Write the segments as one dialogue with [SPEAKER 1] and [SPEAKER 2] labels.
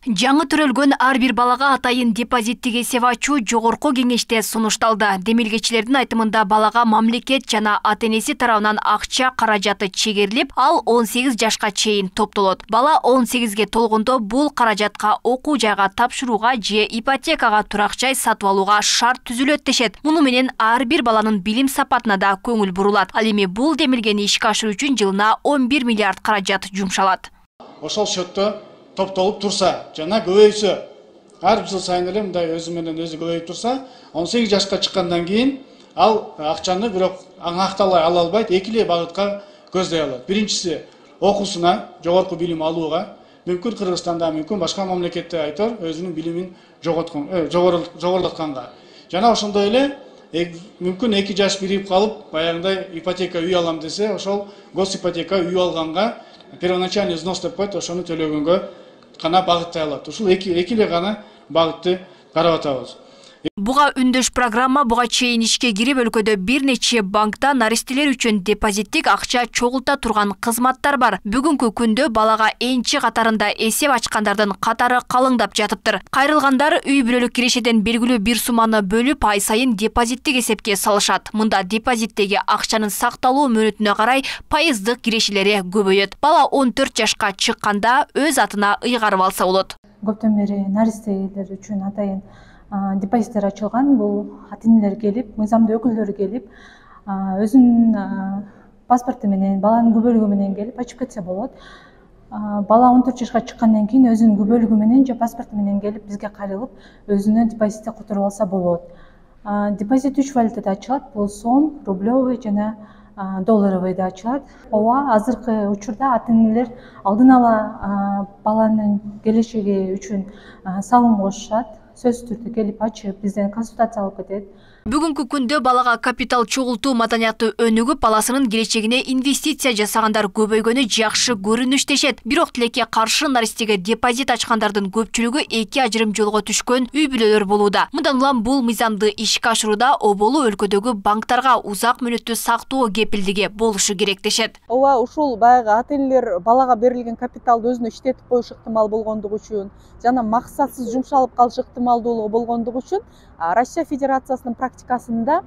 [SPEAKER 1] Жаңы төрөлгөн ар бир балага атайын депозиттик эсеп ачуу жогорку кеңеште сунушталды. Демилгечилердин айтымында балага мамлекет жана ата-энеси тарабынан акча каражаты чегерилип, ал 18 жашка чейин топтолот. Бала 18ге толгондо бул каражатка окуу жайга тапшырууга же ипотекага турак жай сатып алууга шарт түзүлөт дешет. Муну менен ар бир баланын билим сапатына да көңүл бурулат. Ал эми бул демилгени ишке ашыруу үчүн жылына 11 миллиард каражат жумшалат.
[SPEAKER 2] Ошол счетто топтолуп турса, жана көбөйсө, ар жыл сайын эле мындай өзү менен өзү көбөйүп турса, 18 жашка чыккандан кийин ал акчаны бирок аңакталай ала албайт, эки эле багытка көздөй алат. Биринчиси окуусуна, жогорку билим алууга, мүмкүн Кыргызстанда, мүмкүн башка мамлекетте айтор өзүнүн билимин жогорулатканга. Жана ошондой эле мүмкүн 2 жаш бирип калып, баягындай ипотека үй алам десе, ошол госипотека үй алганга первоначальный взнос деп коет, ошону төлөгөнгө гана багыттай алат. Ушул эки эле гана багытты карап атабыз.
[SPEAKER 1] Буга үндөш программа буга чейин ишке кирип, өлкөдө бир нече банкта наристелер үчүн депозиттик акча чогулта турган кызматтар бар. Бүгүнкү күндө балага энчи катарында эсеп ачкандардын катары калыңдап жатыптыр. Кайрылгандар үй бүлөлүк кирешеден белгилүү бир сумманы бөлүп, ай сайын депозиттик эсепке салышат. Мында депозиттеги акчанын сакталуу мөөнөтүнө карай пайыздык кирешелери көбөйөт. Бала 14 жашка чыкканда өз атына ыйгарып алса болот.
[SPEAKER 3] Көптөн бери наристелер үчүн атайын депозиттер ачылган. Бул ата-энелер келип, мыйзамдуу өкүлдөрү келип, өзүнүн паспорту менен, баланын күбөлүгү менен келип ачып кетсе болот. Бала 14 жашка чыккандан кийин өзүнүн күбөлүгү менен же паспорту менен келип бизге кайрылып, өзүнө депозитти которуп алса болот. Депозит 3 валютада ачылат. Бул сом, рублевый жана долларовый да ачылат. Ооба, азыркы учурда ата-энелер алдын ала баланын келечеги үчүн салым кошушат. Сөзсүз түрдө келип ачып, бизден консультация алып кетет.
[SPEAKER 1] Бүгүнкү күндө балага капитал чогултуу маданияты өнүгүп, баласынын келечегине инвестиция жасагандар көбөйгөнү жакшы көрүнүш дешет. Бирок тилекке каршы наристеге депозит ачкандардын көпчүлүгү эки ажырым жолго түшкөн үй бүлөлөр болууда. Мындан улам бул мыйзамды ишке ашырууда оболу өлкөдөгү банктарга узак мөөнөттүү сактоо кепилдиги болушу керек дешет.
[SPEAKER 4] Ооба, ушул баягы ата-энелер балага берилген капиталды өзүнө иштетип коюш ыктымал болгондугу үчүн жана максатсыз жумшалып калыш ыктымалдуулугу болгондугу үчүн Россия Федерациясынын практикасында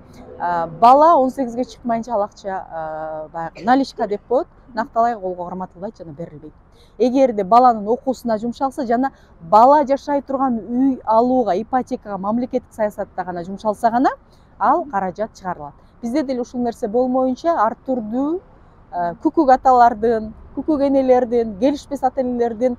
[SPEAKER 4] бала 18ге чыкмайынча ал акча баягы наличка деп коет, накталай колго карматылбайт жана берилбейт. Эгерде баланын окуусуна жумшалса жана бала жашай турган үй алууга, ипотекага, мамлекеттик саясатта гана жумшалса гана ал каражат чыгарылат. Бизде деле ушул нерсе болмоюнча ар түрдүү күкүк аталардын, күкүк энелердин, келишпес ата-энелердин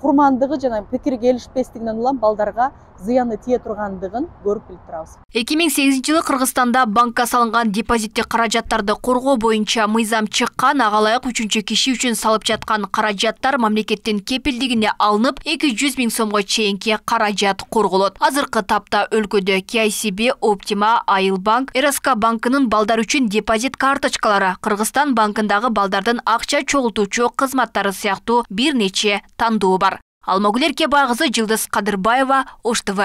[SPEAKER 4] курмандыгы жана пикири келишпестигинен улам балдарга зыяны тие тургандыгын көрүп билип турабыз.
[SPEAKER 1] 2008-жылы Кыргызстанда банкка салынган депозиттик каражаттарды коргоо боюнча мыйзам чыккан. Ага ылайык 3-чү киши үчүн салып жаткан каражаттар мамлекеттин кепилдигине алынып, 200 000 сомго чейинки каражат корголот. Азыркы тапта өлкөдө KCB, Optima, Айылбанк, РСК банкынын балдар үчүн депозит карточкалары, Кыргызстан банкындагы балдардын акча чогултуучу кызматтары сыяктуу бир нече тандоо бар. Алмагүл Эркебай кызы, Жылдыз Кадырбаева, Ош ТВ.